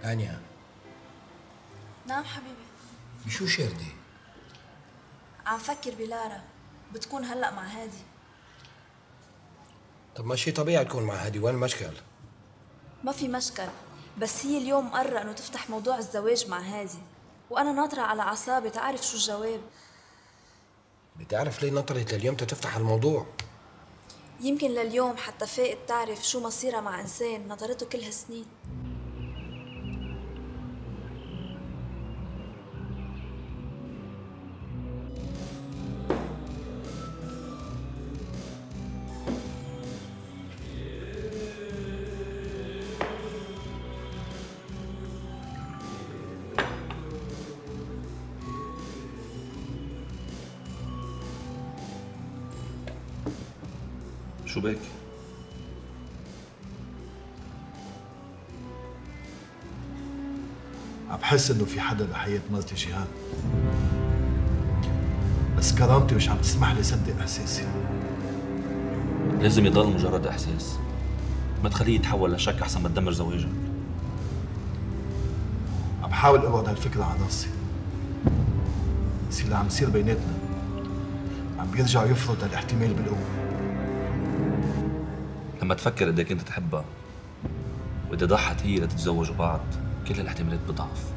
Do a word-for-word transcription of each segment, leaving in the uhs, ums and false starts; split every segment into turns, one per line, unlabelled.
هانيا.
نعم حبيبي.
بشو شاردة؟
عم فكر بلارا، بتكون هلأ مع هادي.
طب ما شي طبيعي تكون مع هادي، وين المشكل؟
ما في مشكل، بس هي اليوم مقررة انه تفتح موضوع الزواج مع هادي، وانا ناطرة على اعصابي تعرف شو الجواب.
بتعرف ليه نطرت لليوم تفتح الموضوع؟
يمكن لليوم حتى فائت تعرف شو مصيرها مع انسان نطرته كل هالسنين.
شو بك؟
عم بحس انه في حدا بحياة مرتي جهاد، بس كرامتي مش عم تسمح لي صدق احساسي.
لازم يضل مجرد احساس، ما تخليه يتحول لشك احسن ما تدمر زواجك.
عم بحاول ابعد هالفكرة عن راسي، بس اللي عم يصير بيناتنا عم بيرجع يفرض هالاحتمال بالقوة.
لما تفكر قد ايه كنت تحبها وإذا ضحت هي لتتزوجوا بعض، كل الاحتمالات بتضعف.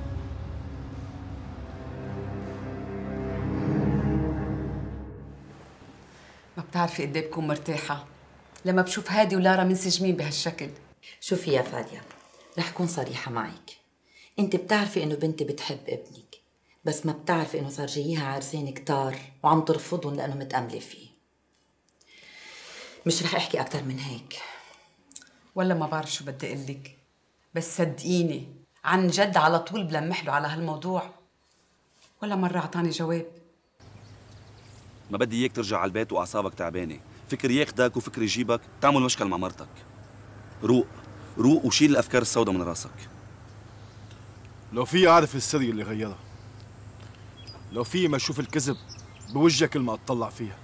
ما بتعرفي قد ايه بكون مرتاحة لما بشوف هادي ولارا منسجمين بهالشكل.
شوفي يا فادية، رح كون صريحة معك. انت بتعرفي انه بنتي بتحب ابنك، بس ما بتعرفي انه صار جاييها عرسان كتار وعم ترفضهم لانه متأملة فيه. مش رح احكي اكتر من هيك.
ولا ما بعرف شو بدي اقول لك، بس صدقيني عن جد على طول بلمح له على هالموضوع، ولا مرة اعطاني جواب.
ما بدي اياك ترجع على البيت واعصابك تعبانه، فكر ياخدك وفكر يجيبك تعمل مشكل مع مرتك. روق روق وشيل الافكار السوداء من راسك.
لو في اعرف السر اللي غيرها، لو في ما اشوف الكذب بوجهها كل ما اطلع فيها،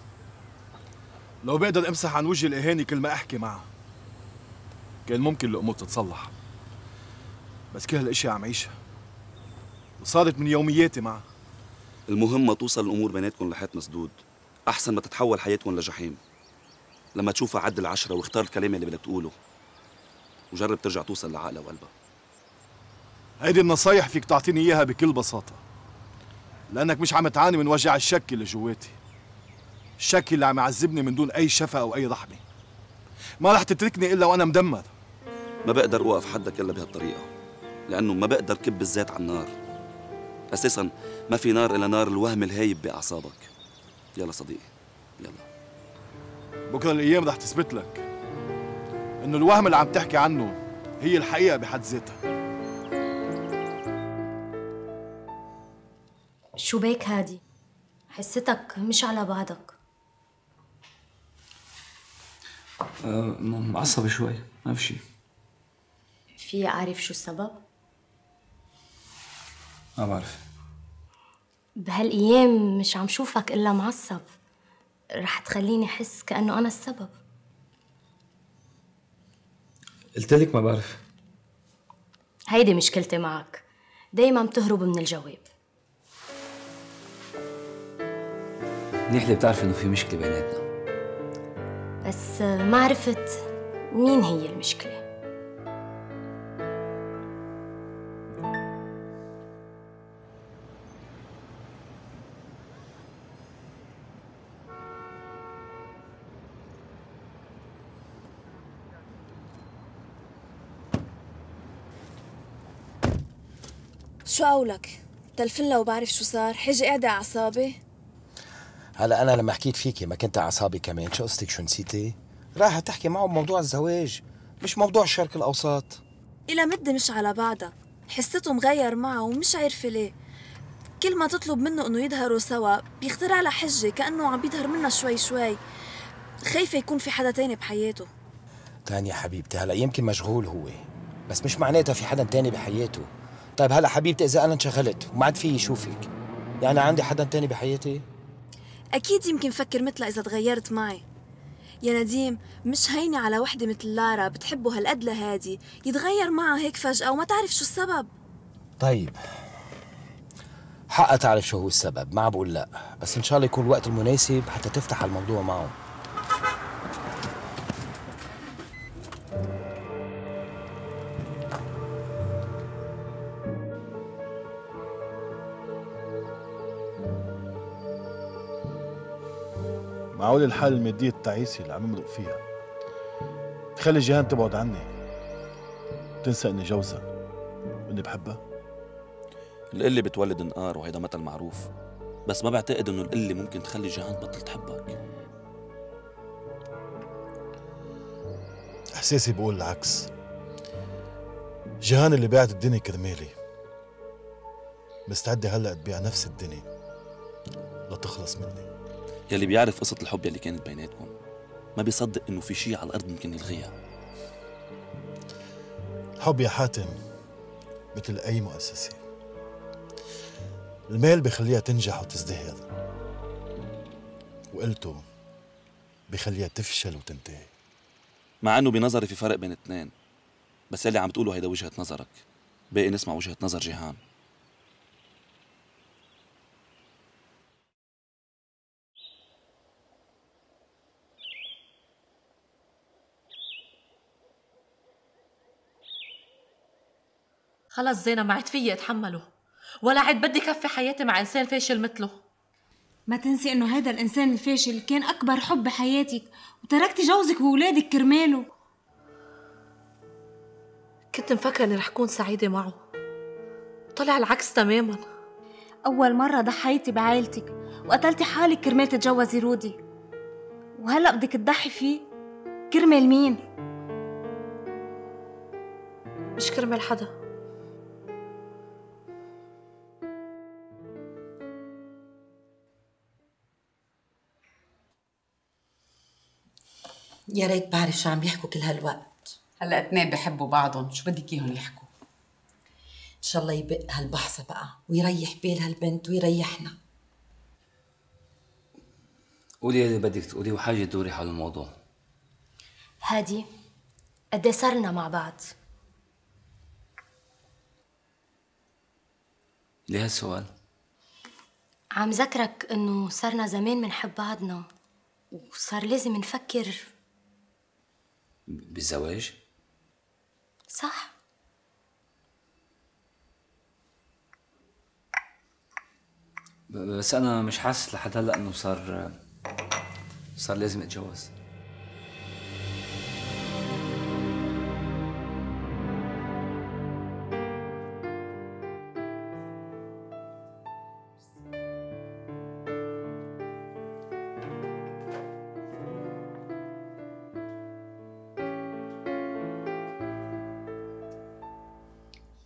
لو بقدر امسح عن وجهي الاهاني كل ما احكي معها، كان ممكن الامور تتصلح. بس كل هالاشياء عم عيشها وصارت من يومياتي معها.
المهم ما توصل الامور بيناتكم لحيط مسدود، احسن ما تتحول حياتكم لجحيم. لما تشوفها عد العشرة واختار الكلام اللي بدك تقوله، وجرب ترجع توصل لعقلها وقلبها.
هيدي النصايح فيك تعطيني اياها بكل بساطة، لأنك مش عم تعاني من وجع الشك اللي جواتي، الشك اللي عم يعذبني من دون أي شفقة أو أي رحمة. ما رح تتركني إلا وأنا مدمر.
ما بقدر أوقف حدك إلا بهالطريقة، لأنه ما بقدر كب الزيت على النار. أساساً ما في نار إلا نار الوهم الهايب بأعصابك. يلا صديقي، يلا.
بكره الايام رح تثبت لك انه الوهم اللي عم تحكي عنه هي الحقيقه بحد ذاتها.
شو بيك هادي؟ حستك مش على بعضك.
أه معصبة شوي، ما في شي.
في أعرف شو السبب؟
ما بعرف.
بهالأيام مش عم شوفك إلا معصب، رح تخليني أحس كأنه أنا السبب.
قلت لك ما بعرف.
هيدي مشكلتي معك، دايما بتهرب من الجواب.
منيح اللي بتعرف إنه في مشكلة بيناتنا.
بس ما عرفت مين هي المشكلة.
شو قولك؟ تلفنلا وبعرف شو صار، حجي قاعدة على أعصابي.
هلا أنا لما حكيت فيكي ما كنت على أعصابي كمان، شو قصتك شو نسيتي؟ رايحة تحكي معه بموضوع الزواج مش موضوع الشرق الأوسط.
إلى مدة مش على بعضها، حسيته مغير معه ومش عارفة ليه. كل ما تطلب منه إنه يظهروا سوا بيخترع لها حجة كأنه عم بيظهر منها شوي شوي. خايفة يكون في حدا تاني بحياته.
تانية حبيبتي، هلا يمكن مشغول هو، بس مش معناتها في حدا تاني بحياته. طيب هلا حبيبتي إذا أنا انشغلت وما عاد في يشوفك، يعني عندي حدا تاني بحياتي؟
أكيد يمكن فكر مثلها إذا تغيرت معي. يا نديم مش هينة على وحدة مثل لارا بتحبه هالقد لهادي يتغير معها هيك فجأة وما تعرف شو السبب.
طيب حقها تعرف شو هو السبب، ما عم بقول لا، بس إن شاء الله يكون الوقت المناسب حتى تفتح الموضوع معه.
معقول الحالة المادية التعيسة اللي عم امرق فيها تخلي جيهان تبعد عني وتنسى اني جوزها واني بحبها؟
القلة بتولد نقار وهيدا مثل معروف، بس ما بعتقد انه القلة ممكن تخلي جيهان تبطل تحبك.
احساسي بقول العكس. جيهان اللي باعت الدنيا كرمالي مستعدة هلا تبيع نفس الدنيا لتخلص مني.
يلي بيعرف قصة الحب يلي كانت بيناتكم ما بيصدق انه في شيء على الارض ممكن يلغيها.
الحب يا حاتم مثل اي مؤسسة، المال بخليها تنجح وتزدهر، وقلته بخليها تفشل وتنتهي.
مع انه بنظري في فرق بين الاثنين، بس يلي عم تقوله هيدا وجهة نظرك، باقي نسمع وجهة نظر جيهان.
خلص زينة ما عاد فيي اتحمله، ولا عاد بدي كفي حياتي مع انسان فاشل مثله.
ما تنسي انه هيدا الانسان الفاشل كان اكبر حب بحياتك، وتركتي جوزك وولادك كرماله.
كنت مفكرة اني رح كون سعيدة معه، طلع العكس تماما.
اول مرة ضحيتي بعائلتك وقتلتي حالك كرمال تتجوزي رودي، وهلا بدك تضحي فيه كرمال مين؟
مش كرمال حدا.
يا ريت بعرف شو عم يحكوا كل هالوقت.
هلا اثنين بحبوا بعضهم، شو بدك اياهم يحكوا؟
ان شاء الله يبق هالبحث بقى ويريح بال هالبنت ويريحنا.
قولي اللي بدك تقوليه وحاجة تدوري حول الموضوع.
هادي قد صرنا مع بعض؟
ليه هالسؤال؟
عم ذكرك انه صرنا زمان منحب بعضنا وصار لازم نفكر
بالزواج؟
صح.
بس أنا مش حاسس لحد هلا إنه صار صار لازم أتجوز.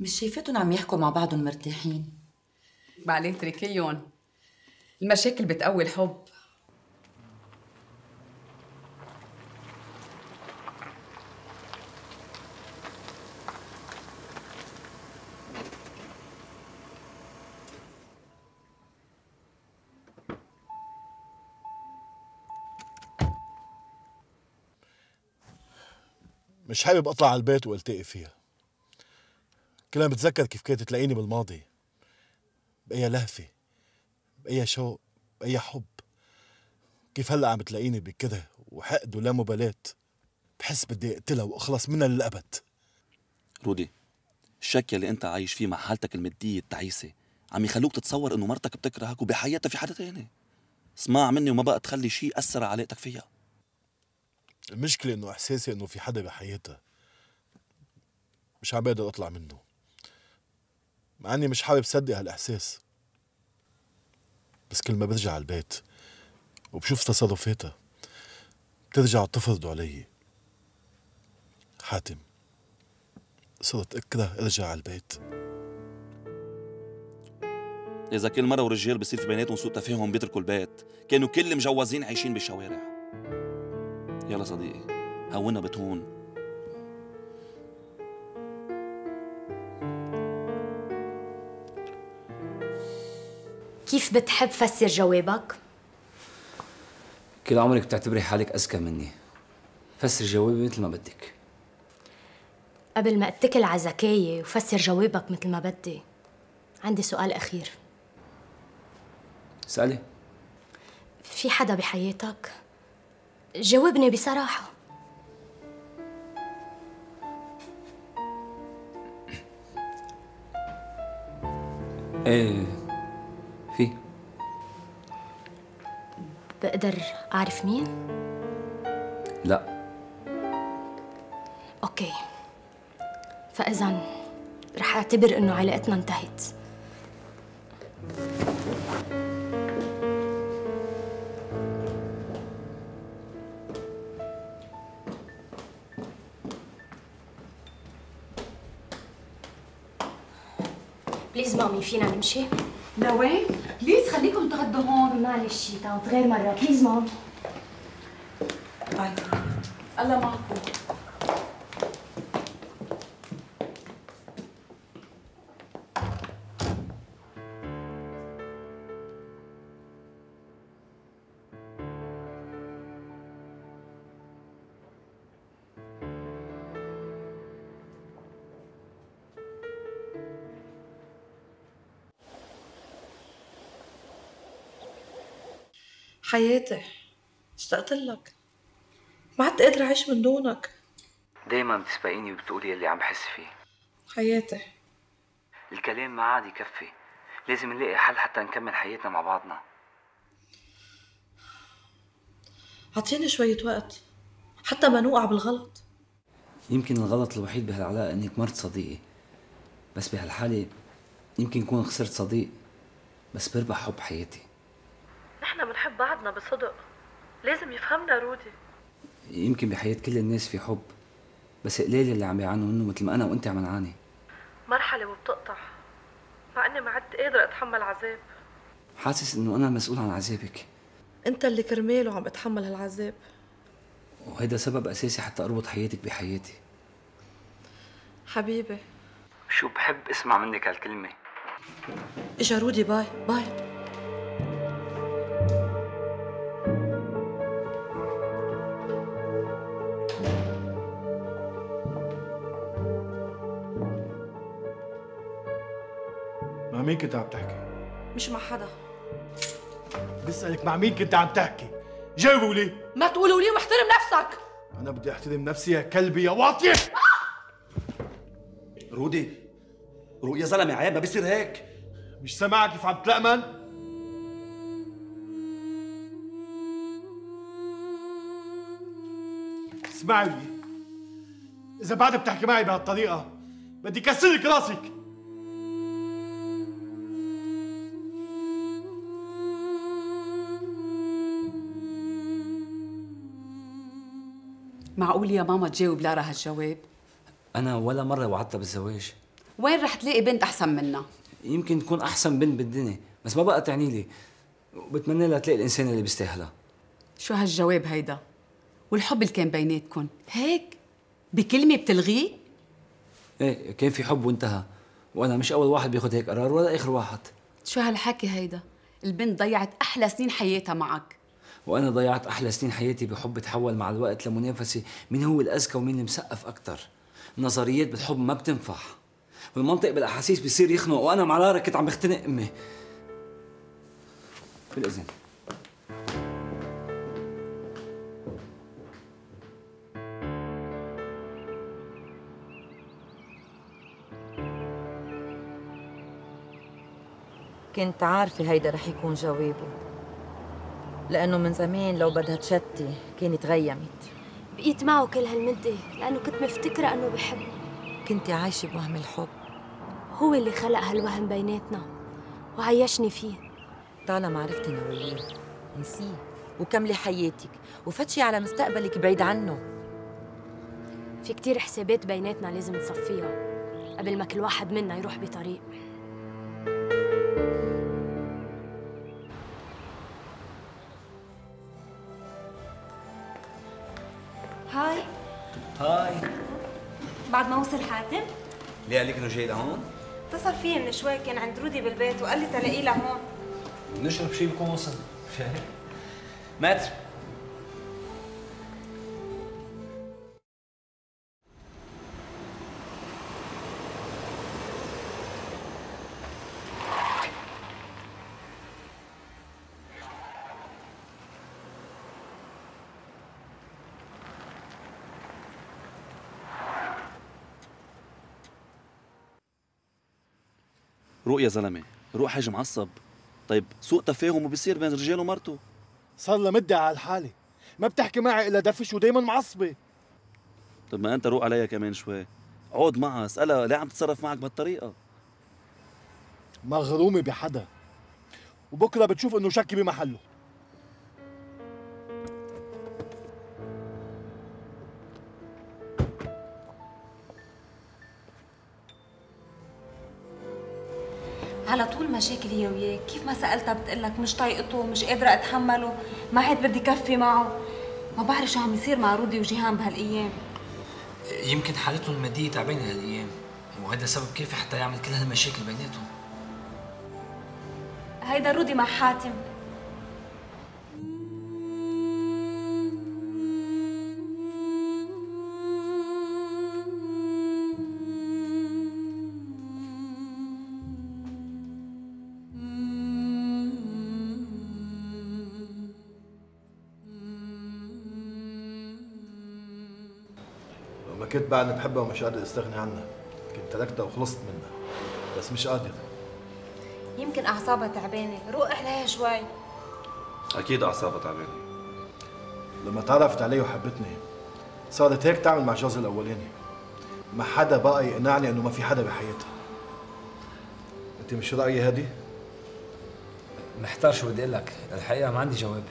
مش شايفتهم عم يحكوا مع بعضهم مرتاحين؟
بعدين اتركيهم، المشاكل بتقوي الحب.
مش حابب اطلع على البيت والتقي فيها. كل ما بتذكر كيف كانت تلاقيني بالماضي، بأي لهفة، بأي شوق، بأي حب، كيف هلا عم تلاقيني بكده وحقد ولا مبالاة، بحس بدي اقتلها واخلص منها للأبد.
رودي، الشك اللي انت عايش فيه مع حالتك المادية التعيسة عم يخلوك تتصور انه مرتك بتكرهك وبحياتها في حدا تاني. اسمع مني وما بقى تخلي شيء أثر على علاقتك فيها.
المشكلة انه احساسي انه في حدا بحياتها مش عم بقدر اطلع منه، مع اني مش حابب صدق هالاحساس. بس كل ما برجع على البيت وبشوف تصرفاتها بترجع تفرض علي. حاتم، صرت اكره ارجع على البيت.
إذا كل مرة ورجال بصير في بيناتهم سوء تفاهم بيتركوا البيت، كانوا كل مجوزين عايشين بالشوارع. يلا صديقي، هونا بتهون.
كيف بتحب فسر جوابك؟
كل عمرك بتعتبري حالك أذكى مني. فسر جوابي مثل ما بدك.
قبل ما اتكل على ذكاية وفسر جوابك مثل ما بدي، عندي سؤال أخير.
اسألي.
في حدا بحياتك؟ جاوبني بصراحة.
ايه في.
بقدر أعرف مين؟
لا.
أوكي، فإذا رح أعتبر إنه علاقتنا انتهت. بليز مامي، فينا نمشي؟
لوين؟ بليز خليكم تغدوا هون.
معلش تعود غير مرة، بليز مام.
باي. الله معكم.
حياتي، اشتقت لك، ما عدت قادرة أعيش من دونك.
دايما بتسبقيني وبتقولي اللي عم بحس فيه.
حياتي،
الكلام ما عاد يكفي، لازم نلاقي حل حتى نكمل حياتنا مع بعضنا.
عطيني شوية وقت حتى ما نوقع بالغلط.
يمكن الغلط الوحيد بهالعلاقة انك مرت صديقي، بس بهالحالة يمكن كون خسرت صديق بس بربح حب حياتي.
نحن بنحب بعضنا بصدق، لازم يفهمنا رودي.
يمكن بحياة كل الناس في حب، بس قليل اللي عم يعانوا منه مثل ما انا وانت عم نعاني.
مرحلة وبتقطع، مع اني ما عدت قادرة اتحمل عذاب.
حاسس انه انا مسؤول عن عذابك.
انت اللي كرماله عم اتحمل هالعذاب،
وهيدا سبب اساسي حتى اربط حياتك بحياتي.
حبيبي.
شو بحب اسمع منك هالكلمة.
اجا رودي، باي باي.
مع مين كنت عم تحكي؟
مش مع حدا.
بسألك مع مين كنت عم تحكي؟ جاوبوا لي.
ما تقولوا لي واحترم نفسك.
أنا بدي أحترم نفسي يا كلبي يا واطية.
رودي، رو يا زلمة عيب، ما بيصير هيك.
مش سامعك كيف عم تلقمن؟ اسمعي لي، إذا بعد بتحكي معي بهالطريقة بدي كسر لك راسك.
معقول يا ماما تجاوب لارا هالجواب؟
انا ولا مرة وعدتها بالزواج.
وين رح تلاقي بنت أحسن منها؟
يمكن تكون أحسن بنت بالدنيا، بس ما بقى تعني لي، وبتمنى لها تلاقي الإنسان اللي بيستاهلها.
شو هالجواب هيدا؟ والحب اللي كان بيناتكن هيك بكلمة بتلغيه؟
ايه كان في حب وانتهى، وأنا مش أول واحد بياخد هيك قرار ولا آخر واحد.
شو هالحكي هيدا؟ البنت ضيعت أحلى سنين حياتها معك.
وأنا ضيعت أحلى سنين حياتي بحب تحول مع الوقت لمنافسة مين هو الأذكى ومين اللي مسقف أكتر. النظريات بالحب ما بتنفع، والمنطق بالأحاسيس بيصير يخنق، وأنا مع لارا كنت عم بختنق أمي. بالإذن.
كنت عارفة هيدا رح يكون جوابه، لأنه من زمان لو بدها تشتي كانت غيمت.
بقيت معه كل هالمدة لأنه كنت مفتكرة أنه بحبني.
كنت عايشة بوهم الحب.
هو اللي خلق هالوهم بيناتنا وعيشني فيه.
طالما عرفتي نويين نسيه وكملي حياتك وفتشي على مستقبلك بعيد عنه.
في كتير حسابات بيناتنا لازم نصفيها قبل ما كل واحد منا يروح بطريق.
هاي
هاي.
بعد ما وصل حاتم؟
ليه قال لك انه جاي لهون؟
اتصل فيي من شوي، كان عند رودي بالبيت وقال لي تلاقيه لهون.
نشرب شيء بكون وصل. شايف؟ ماتر.
روق يا زلمه، روق حاج معصب. طيب سوء تفاهم وبصير بين الرجال ومرته.
صار لها مدة على الحالة، ما بتحكي معي إلا دفش ودايما معصبة.
طب ما أنت روق عليها كمان شوي، عود معها اسألها ليه عم تتصرف معك بهالطريقة.
مغرومة بحدا، وبكرة بتشوف إنه شكي بمحله.
على طول مشاكل هي وياك، كيف ما سألتها بتقلك مش طايقته، مش قادرة أتحمله، ما عاد بدي كفي معه. ما بعرف شو عم يصير مع رودي وجيهان بهالأيام.
يمكن حالتهم المادية تعبانة هالأيام، وهذا سبب كافي حتى يعمل كل هالمشاكل بيناتهم.
هيدا رودي مع حاتم.
كنت بعدني بحبها ومش قادر استغني عنها، كنت تركتها وخلصت منها، بس مش قادر.
يمكن أعصابها تعبانة، روق عليها شوي.
أكيد أعصابها تعبانة.
لما تعرفت علي وحبتني صارت هيك تعمل مع جوزها الأولاني، ما حدا بقى يقنعني إنه ما في حدا بحياتها. أنت مش رأيي هادي؟
محتار شو بدي أقول لك، الحقيقة ما عندي جواب.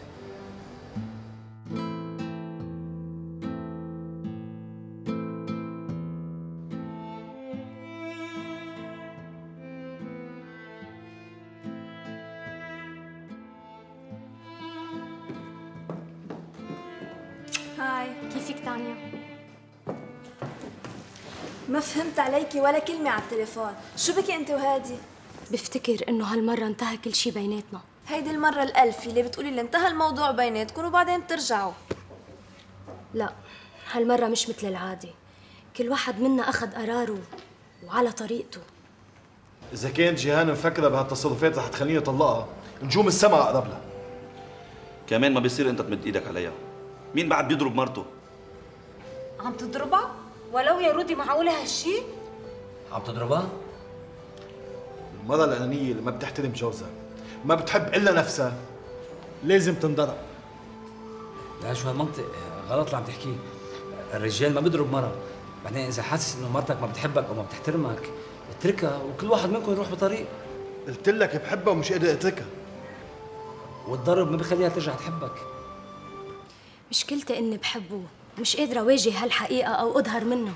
هاي،
كيفك تانيا؟
ما فهمت عليكي ولا كلمة على التليفون، شو بكي انت وهادي؟
بفتكر انه هالمرة انتهى كل شي بيناتنا.
هيدي المرة الألف اللي بتقولي اللي انتهى الموضوع بيناتكم وبعدين بترجعوا.
لا، هالمرة مش مثل العادة، كل واحد منا أخذ قراره وعلى طريقته.
إذا كانت جيهان مفكرة بهالتصرفات رح تخليني أطلقها، نجوم السما أقرب لها.
كمان ما بيصير أنت تمد إيدك عليها، مين بعد بيضرب مرته؟
عم تضربها؟ ولو يا رودي معقولة هالشي؟
عم تضربها؟
المرة الأنانية اللي ما بتحترم جوزها، ما بتحب إلا نفسها، لازم تنضرب.
لا شو هالمنطق غلط اللي عم تحكيه، الرجال ما بيضرب مرة، بعدين إذا حاسس إنه مرتك ما بتحبك أو ما بتحترمك اتركها وكل واحد منكم يروح بطريق.
قلت لك بحبها ومش قادر أتركها.
والضرب ما بخليها ترجع تحبك.
مشكلتي إني بحبه، مش قادرة أواجه هالحقيقة أو أظهر منها.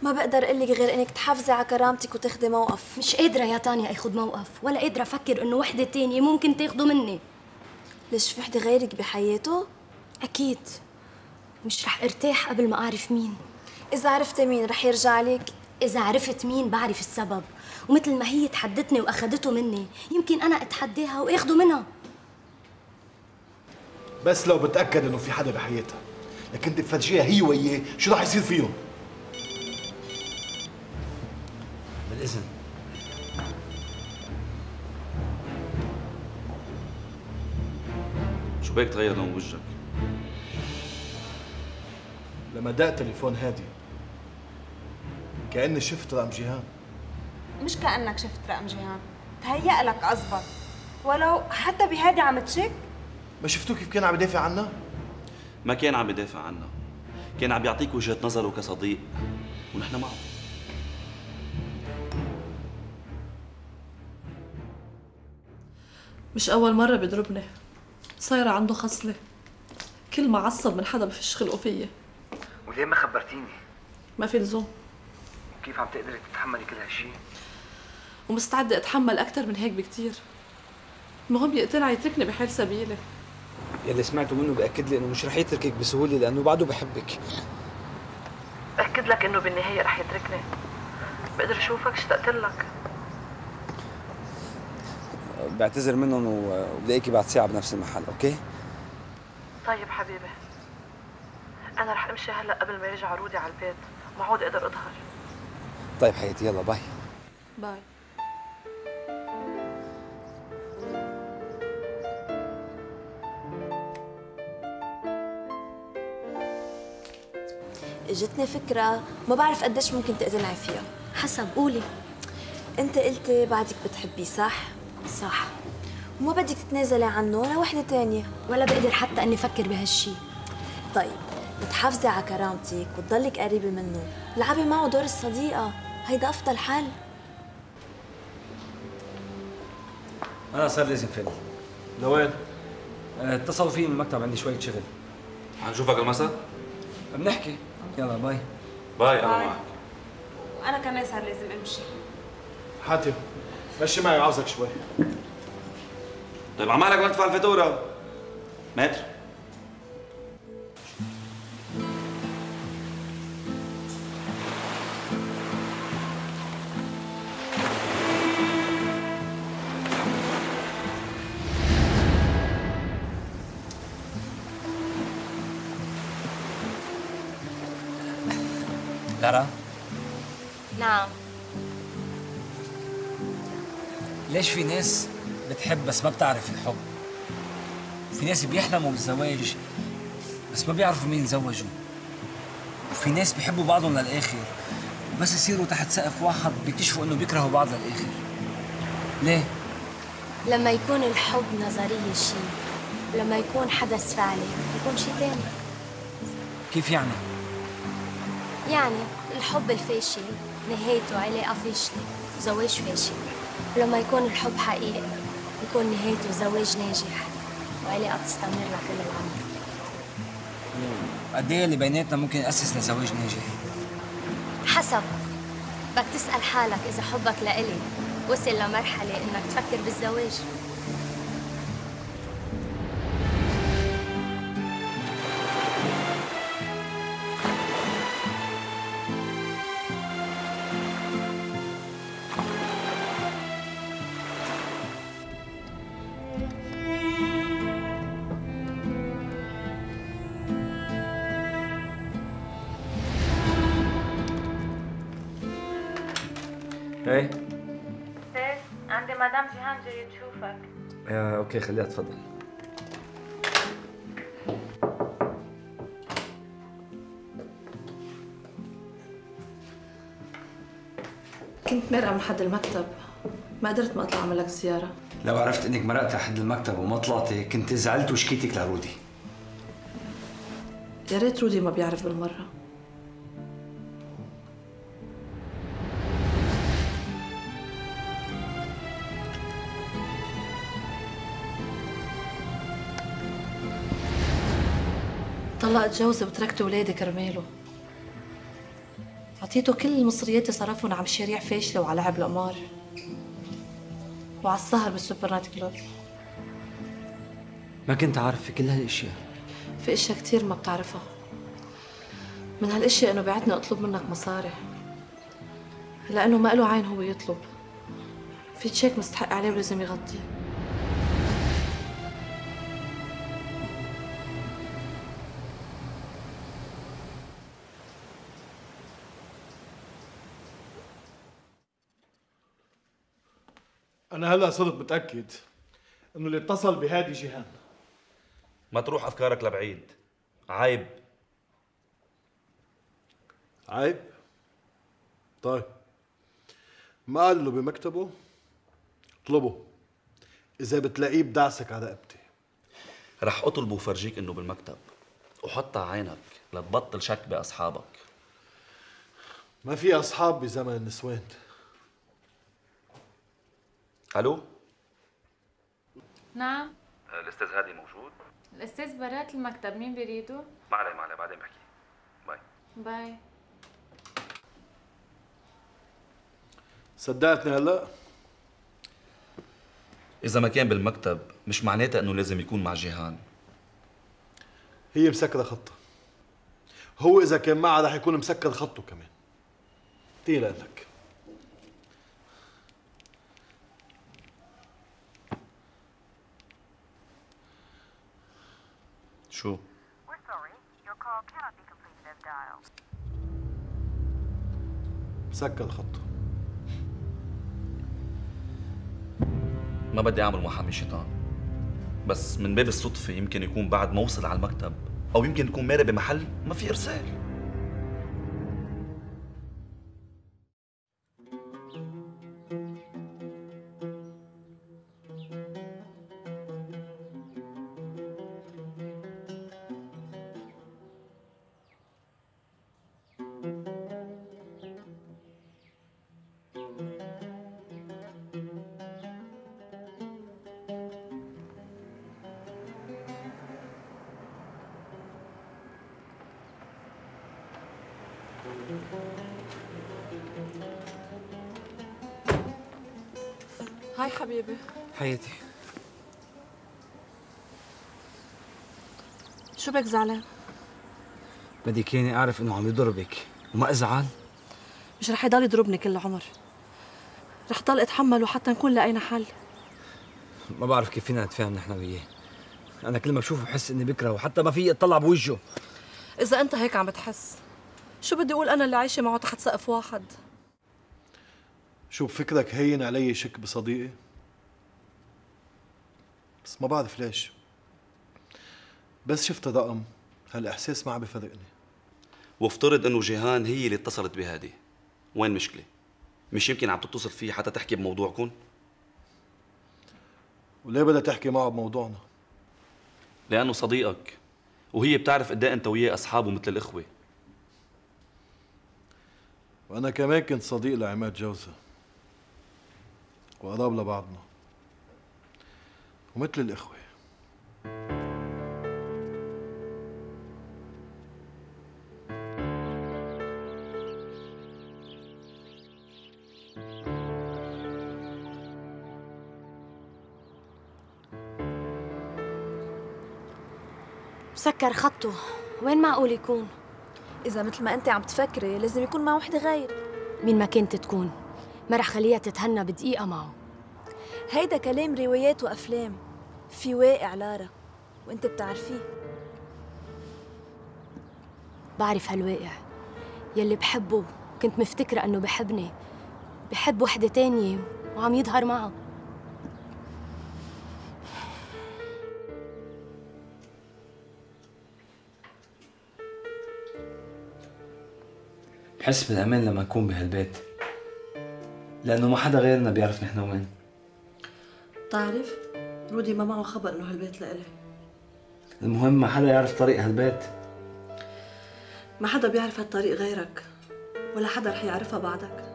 ما بقدر اقول لك غير انك تحافظي على كرامتك وتاخدي موقف.
مش قادرة يا تانيا اخد موقف، ولا قادرة افكر انه وحدة تانية ممكن تاخده مني.
ليش في وحدة غيرك بحياته؟
اكيد مش رح ارتاح قبل ما اعرف مين.
اذا عرفتي مين رح يرجع عليك؟
اذا عرفت مين بعرف السبب، ومثل ما هي تحدتني واخدته مني يمكن انا اتحداها واخده منها.
بس لو بتاكد انه في حدا بحياتها لكن انت بتفرجيها هي وياه شو رح يصير فيهم؟
بالإذن.
شو بيك تغير لون وجهك؟
لما دق تليفون هادي كأني شفت رقم جيهان.
مش كأنك شفت رقم جيهان، تهيأ لك أزبط. ولو حتى بهادي عم تشك.
ما شفتوه كيف كان عم يدافع عنها؟
ما كان عم يدافع عنها، كان عم يعطيك وجهة نظره كصديق ونحن معه.
مش أول مرة بيضربني، صايرة عنده خصلة، كل ما عصب من حدا بفش خلقه فيي.
وليه ما خبرتيني؟
ما في لزوم.
وكيف عم تقدري تتحملي كل هالشي؟
ومستعدة أتحمل أكتر من هيك بكتير. المهم يقتنع يتركني بحال سبيلي.
يلي سمعته منه بأكد لي إنه مش رح يتركك بسهولة لأنه بعده بحبك.
بأكد لك إنه بالنهاية رح يتركني. بقدر أشوفك اشتقت لك.
بعتذر منهم وبلاقيكي بعد ساعة بنفس المحل، أوكي؟
طيب حبيبي. أنا رح أمشي هلا قبل ما يرجع رودي على البيت، ما عود أقدر أظهر.
طيب حياتي، يلا باي.
باي.
اجتني فكرة ما بعرف قديش ممكن تقتنعي فيها.
حسب، قولي.
انت قلتي بعدك بتحبيه صح؟
صح.
وما بدك تتنازلي عنه لوحدة تانية.
ولا بقدر حتى اني افكر بهالشي.
طيب بتحافظي على كرامتك وتضلك قريبة منه، لعبي معه دور الصديقة، هيدا أفضل حل.
أنا صار لازم فيني.
لوين؟
اتصلوا فيي من المكتب، عندي شوية شغل.
حنشوفك المساء؟
بنحكي. يلا باي.
باي. أنا معك.
وأنا كمان صار لازم أمشي.
حاتم مشي معي عاوزك شوي.
طيب عمالك ما تدفع الفاتورة. متر.
لارا.
نعم.
ليش في ناس بتحب بس ما بتعرف الحب؟ وفي ناس بيحلموا بالزواج بس ما بيعرفوا مين يتزوجوا. وفي ناس بيحبوا بعضهم للآخر بس يصيروا تحت سقف واحد بيكتشفوا انه بيكرهوا بعض للآخر. ليه؟
لما يكون الحب نظرية شيء، ولما يكون حدث فعلي يكون شيء تاني.
كيف يعني؟
يعني الحب الفاشل نهايته علاقة فاشلة وزواج فاشل، ولما يكون الحب حقيقي يكون نهايته زواج ناجح وعلاقة تستمر لكل العمر.
قد ايه اللي بيناتنا ممكن يأسس لزواج ناجح؟
حسب، بدك تسأل حالك إذا حبك لإلي وصل لمرحلة إنك تفكر بالزواج.
ايه؟
سيس عندي مدام جيهان جاي تشوفك.
آه، اوكي خليها تفضل.
كنت مرقة من حد المكتب، ما قدرت ما اطلع اعمل لك زيارة.
لو عرفت انك مرقت لحد المكتب وما طلعتي كنت زعلت وشكيتك لرودي.
يا ريت رودي ما بيعرف بالمرة. طلقت جوزي وتركت ولادي كرماله.
عطيته كل مصرياتي صرفهم على مشاريع فاشلة وعلى لعب القمار وعلى السهر بالسوبر نايت كلوب.
ما كنت عارف في كل هالاشياء.
في اشياء كتير ما بتعرفها. من هالاشياء انه بعتني اطلب منك مصاري لانه ما له عين هو يطلب. في تشيك مستحق عليه ولازم يغطيه.
أنا هلا صرت متأكد إنه اللي اتصل بهادي جيهان.
ما تروح أفكارك لبعيد، عيب.
عيب؟ طيب ما قال له بمكتبه؟ اطلبه، إذا بتلاقيه بدعسك على رقبتي.
رح أطلبه وفرجيك إنه بالمكتب، وحطها عينك لتبطل شك بأصحابك.
ما في أصحاب بزمن النسوان.
ألو؟
نعم.
الأستاذ هادي موجود؟
الأستاذ برات المكتب، مين بريده؟
ما عليه ما عليه، بعدين بحكي. باي.
باي.
صدقتني هلا؟
إذا ما كان بالمكتب مش معناتها إنه لازم يكون مع جيهان.
هي مسكرة خطها. هو إذا كان معها رح يكون مسكر خطه كمان. تقيل لك.
شو؟
مسكر خطه.
ما بدي أعمل محامي شيطان، بس من باب الصدفة يمكن يكون بعد ما وصل على المكتب، أو يمكن يكون مارق بمحل ما في إرسال.
هاي حبيبي.
حياتي،
شو بك زعلان؟
بدك ياني اعرف انه عم يضربك وما ازعل؟
مش رح يضل يضربني كل العمر، رح ضل اتحمله حتى نكون لقينا حل.
ما بعرف كيف فينا نتفاهم نحن وياه. انا كل ما بشوفه بحس اني بكرهه وحتى ما في اطلع بوجهه.
اذا انت هيك عم بتحس، شو بدي اقول انا اللي عايشه معه تحت سقف واحد؟
شو بفكرك هين علي شك بصديقي؟ بس ما بعرف ليش. بس شفت الرقم هالاحساس ما عم بفرقني.
وافترض انه جيهان هي اللي اتصلت بهادي، وين مشكلة؟ مش يمكن عم تتصل فيه حتى تحكي بموضوعكم؟
وليه بدها تحكي معه بموضوعنا؟
لأنه صديقك، وهي بتعرف قد ايه انت وياه اصحاب ومثل الاخوة.
وانا كمان كنت صديق لعماد جوزة، وقراب لبعضنا ومثل الاخوة.
مسكر خطه، وين معقول يكون؟
إذا مثل ما أنت عم تفكري لازم يكون مع وحدة غير.
مين ما كنت تكون، ما رح خليها تتهنى بدقيقة معه.
هيدا كلام روايات وأفلام، في واقع لارا وأنت بتعرفيه.
بعرف هالواقع يلي بحبه، كنت مفتكرة أنه بحبني، بحب وحدة تانية وعم يظهر معها.
بحس بالأمان لما نكون بهالبيت، لأنه ما حدا غيرنا بيعرف نحن وين.
بتعرف رودي ما معه خبر إنه هالبيت لإلي.
المهم ما حدا يعرف طريق هالبيت.
ما حدا بيعرف هالطريق غيرك، ولا حدا رح يعرفها بعدك.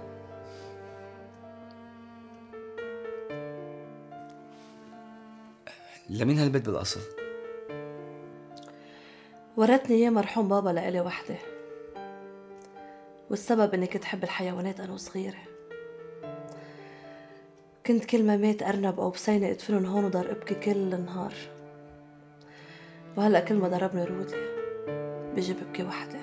لمين هالبيت بالأصل؟
ورثني إياه مرحوم بابا لإلي وحدة، والسبب إني كنت حب الحيوانات أنا وصغيرة. كنت كل ما مات أرنب أو بسينة أدفنن هون وضل أبكي كل النهار. وهلأ كل ما ضربني رودي بيجي ببكي وحدي.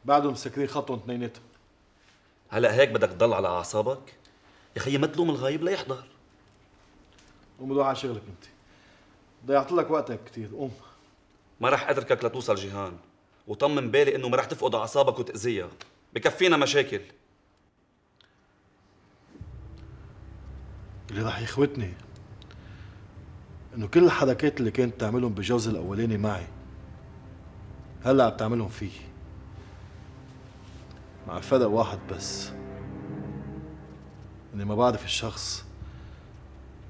بعدهم مسكرين خطهم اثنيناتهم.
هلا هيك بدك تضل على اعصابك؟ يا خيي ما تلوم الغايب ليحضر.
قوم روح على شغلك انت. ضيعت لك وقتك كثير، قوم.
ما رح اتركك لتوصل جيهان، وطمن بالي انه ما رح تفقد اعصابك وتاذيها، بكفينا مشاكل.
اللي رح يخوتني انه كل الحركات اللي كانت تعملهم بالجوز الاولاني معي هلا عم تعملهم فيه، مع فرق واحد بس، اني ما بعرف الشخص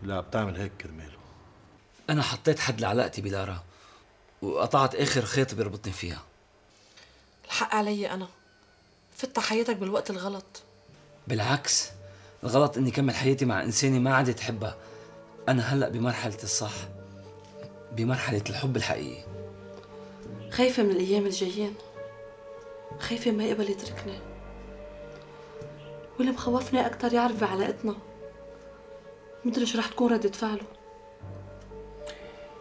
اللي عم تعمل هيك كرماله.
أنا حطيت حد لعلاقتي بلارا وقطعت آخر خيط بيربطني فيها.
الحق علي أنا، فت حياتك بالوقت الغلط.
بالعكس، الغلط إني كمل حياتي مع إنسانة ما عادت تحبها. أنا هلأ بمرحلة الصح، بمرحلة الحب الحقيقي.
خايفة من الأيام الجايين، خايفة ما يقبل يتركني، واللي مخوفني أكتر يعرف بعلاقتنا. مدري شو رح تكون ردة فعله.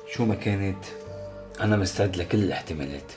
شو ما كانت أنا مستعد لكل الاحتمالات.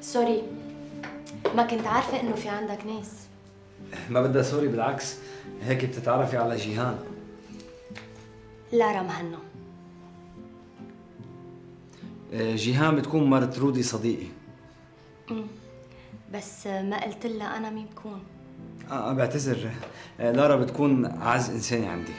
سوري، ما كنت عارفة إنه في عندك ناس.
ما بدها سوري، بالعكس هيك بتتعرفي على جيهان.
لارا مهنا.
جيهان بتكون مرت رودي صديقي.
امم بس ما قلت لها أنا مين بكون.
اه بعتذر، لارا بتكون أعز إنسانة عندي.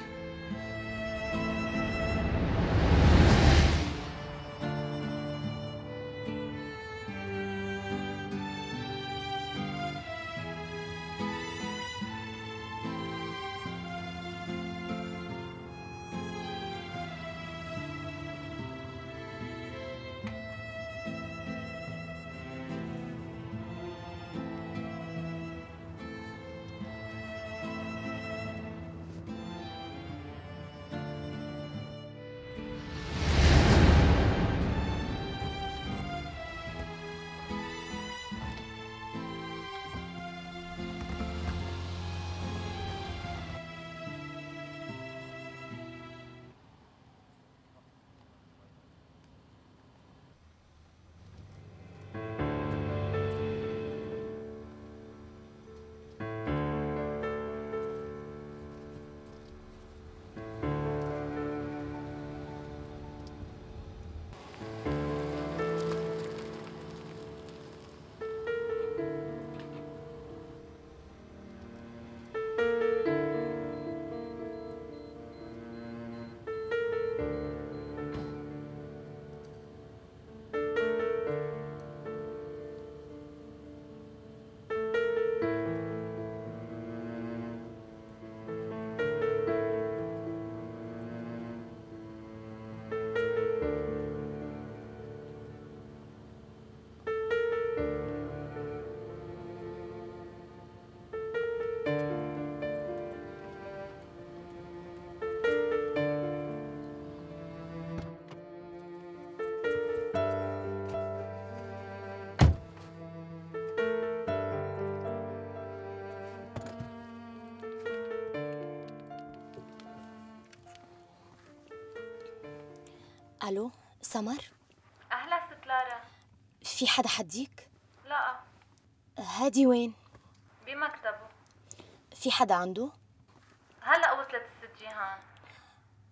الو سمر؟
اهلا ست لارا.
في حدا حديك؟
لا.
هادي وين؟
بمكتبه.
في حدا عنده؟
هلا وصلت الست جيهان.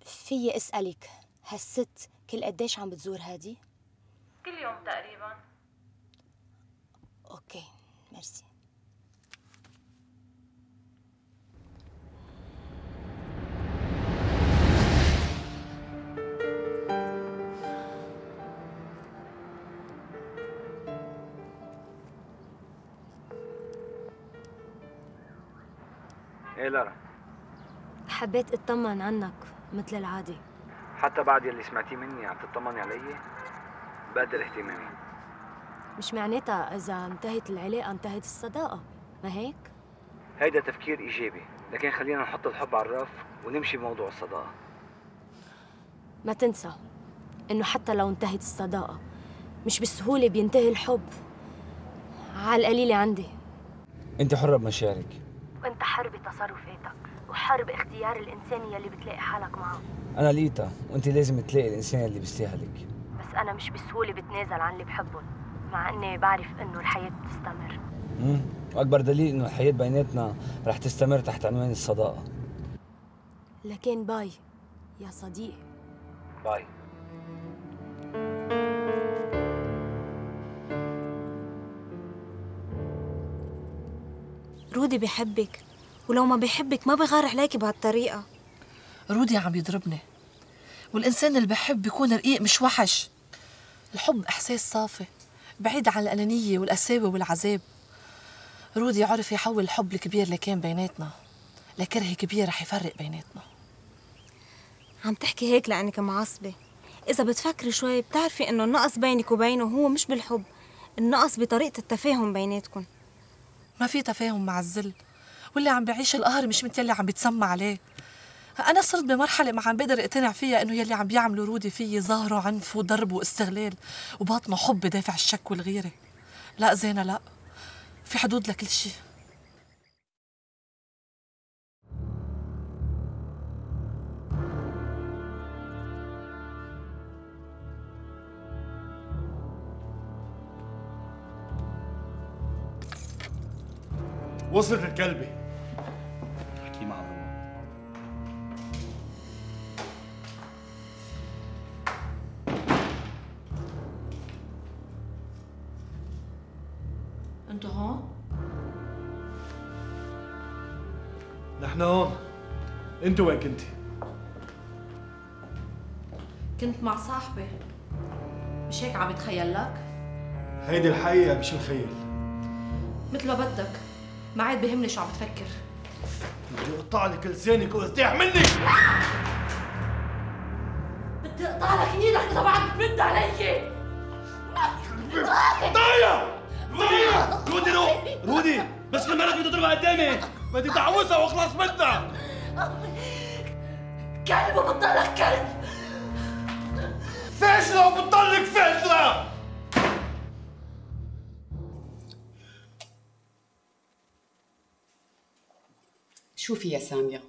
فيي اسألك هالست كل قديش عم بتزور هادي؟
كل يوم تقريبا.
اوكي ميرسي.
ايه لارا،
حبيت اطمن عنك مثل العادي.
حتى بعد يلي سمعتيه مني عم تطمني علي؟ بقدر اهتمامي.
مش معناتها اذا انتهت العلاقه انتهت الصداقه، ما هيك؟
هيدا تفكير ايجابي، لكن خلينا نحط الحب على الرف ونمشي بموضوع الصداقه.
ما تنسى انه حتى لو انتهت الصداقه مش بالسهوله بينتهي الحب. على القليله عندي.
انت حرة بمشاعرك،
وانت حر بتصرفاتك وحر باختيار الانسان يلي بتلاقي حالك معه.
انا لقيتها وانت لازم تلاقي الانسان اللي بيستاهلك.
بس انا مش بسهوله بتنازل عن اللي بحبهم، مع اني بعرف انه الحياه بتستمر.
امم واكبر دليل انه الحياه بيناتنا رح تستمر تحت عنوان الصداقه.
لكن باي يا صديقي.
باي.
رودي بحبك، ولو ما بحبك ما بغار عليكي بهالطريقة.
رودي عم يضربني، والإنسان اللي بحب بيكون رقيق مش وحش. الحب إحساس صافي بعيد عن الأنانية والقساوة والعذاب. رودي عرف يحول الحب الكبير اللي كان بيناتنا لكره كبير رح يفرق بيناتنا.
عم تحكي هيك لأنك معصبة. إذا بتفكري شوي بتعرفي إنه النقص بينك وبينه هو مش بالحب، النقص بطريقة التفاهم بيناتكم.
ما في تفاهم مع الذل، واللي عم بيعيش القهر مش مثل اللي عم بيتسمى عليه. أنا صرت بمرحلة ما عم بقدر اقتنع فيها إنه يلي عم بيعملوا رودي فيي ظاهره عنف وضرب واستغلال وباطنه حب بدافع الشك والغيرة. لا زينة، لا، في حدود لكل شيء.
وصلت الكلبة.
احكي مع ماما.
انتوا هون؟
نحن هون. انت وين كنتي؟
كنت مع صاحبي. مش هيك عم يتخيل لك؟
هيدي الحقيقة مش الخيال.
مثل ما بدك، ما عاد بيهمني شو عم تفكر.
بدي اقطع لك لسانك وارتاح مني.
بدي اقطع لك ايدك اذا بعد تمد علي.
ضايع رودي رودي رو رودي بس كل مرة بدي تضربها قدامي، بدي تعوزها واخلص منها.
كلب وبتضلك كلب.
فاشلة وبتضلك فاشلة.
شوفي يا سامية،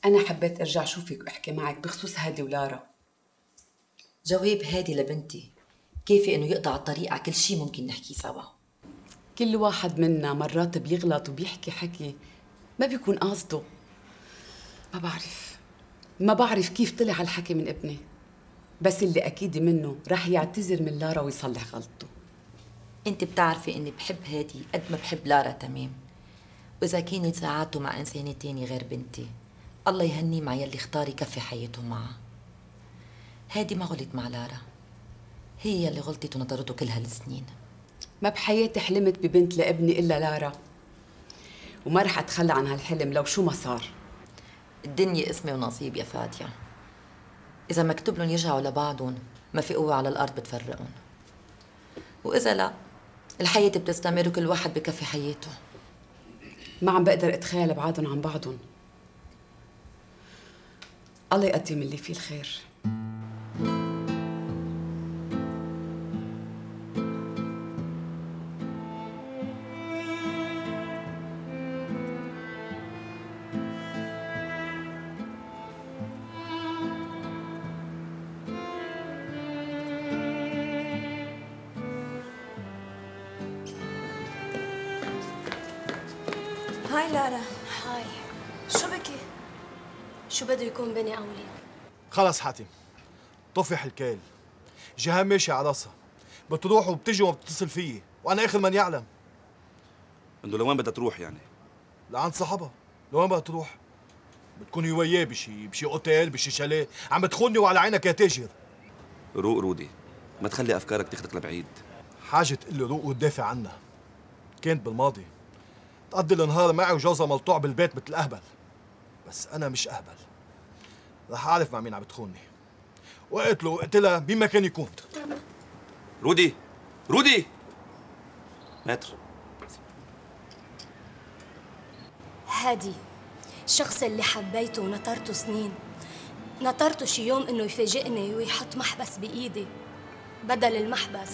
أنا حبيت أرجع شوفك وأحكي معك بخصوص هادي ولارا.
جواب هادي لبنتي كيفي إنه يقطع الطريق على كل شيء ممكن نحكي سوا.
كل واحد منا مرات بيغلط وبيحكي حكي ما بيكون قاصده. ما بعرف ما بعرف كيف طلع هالحكي من ابني، بس اللي أكيد منه رح يعتذر من لارا ويصلح غلطته.
انت بتعرفي إني بحب هادي قد ما بحب لارا تمام، وإذا كانت ساعاته مع إنسانة تاني غير بنتي الله يهنيه مع يلي اختار يكفي حياته معها. هادي ما غلط مع لارا، هي يلي غلطت ونطرته كل هالسنين.
ما بحياتي حلمت ببنت لابني إلا لارا، وما رح أتخلى عن هالحلم لو شو ما صار.
الدنيا اسمي ونصيب يا فادية، إذا مكتوب لهم يرجعوا لبعضهم ما في قوة على الأرض بتفرقهم، وإذا لا الحياة بتستمر وكل واحد بكفي حياته.
ما عم بقدر أتخيل بعادهم عن بعضهم. الله يقدم اللي فيه الخير.
هاي لارا.
هاي.
شو بكي؟
شو بده يكون بيني قولي؟
خلص حاتم، طفح الكيل. جيهان ماشي على راسها، بتروح وبتجي وما بتتصل فيي، وانا اخر من يعلم.
انه لوين بدها تروح يعني؟
لعند صاحبها. لوين بدها تروح؟ بتكوني وياه بشي بشي اوتيل بشي شاليه، عم بتخوني وعلى عينك يا تاجر.
روق رودي، ما تخلي افكارك تاخدك لبعيد.
حاجة تقلي روق وتدافع عنها. كانت بالماضي تقضي النهار معي وجوزها ملطوع بالبيت مثل اهبل. بس انا مش اهبل. رح اعرف مع مين عم بتخوني. واقتله واقتلها مين ما كان يكون.
رودي رودي ماتر.
هادي الشخص اللي حبيته ونطرته سنين، نطرته شي يوم انه يفاجئني ويحط محبس بايدي، بدل المحبس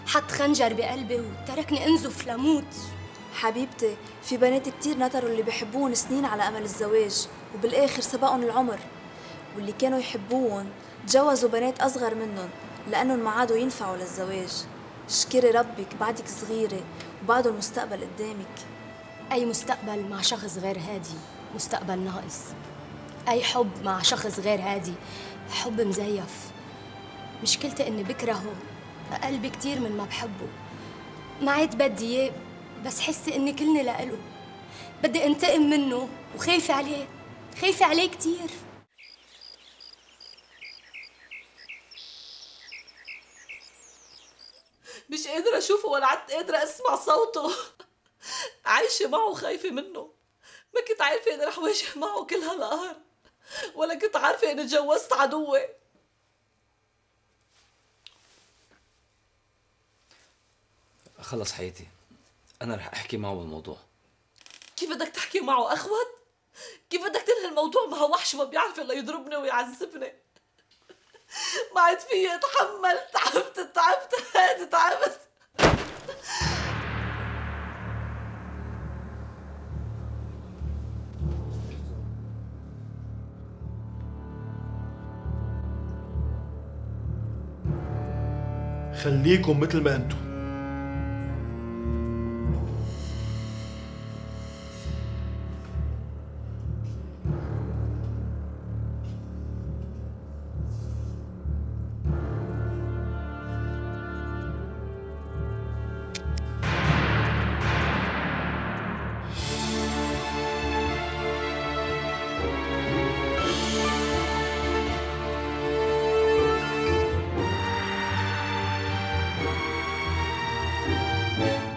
حط خنجر بقلبي وتركني انزف لموت.
حبيبتي في بنات كتير نطروا اللي بيحبوهم سنين على امل الزواج وبالاخر سبقهم العمر، واللي كانوا يحبوهم تجوزوا بنات اصغر منهم لانهم ما عادوا ينفعوا للزواج. اشكري ربك بعدك صغيره وبعده المستقبل قدامك.
اي مستقبل مع شخص غير هادي مستقبل ناقص، اي حب مع شخص غير هادي حب مزيف. مشكلتي اني بكرهه اقل بكتير من ما بحبه. ما عاد بدي اياه بس حسي اني كلني لإله. بدي انتقم منه وخايفة عليه، خايفة عليه كتير.
مش قادرة أشوفه ولا عدت قادرة أسمع صوته. عايشة معه خايفة منه. ما كنت عارفة إني رح واجه معه كل هالقهر، ولا كنت عارفة إني تجوزت عدوي.
خلص حياتي، أنا رح أحكي معه بالموضوع.
كيف بدك تحكي معه أخوت؟ كيف بدك تنهي الموضوع مع وحش ما بيعرف إلا يضربني ويعذبني؟ ما عاد فيي أتحمل، تعبت تعبت هادي تعبت.
خليكم مثل ما انتم.
Thank you.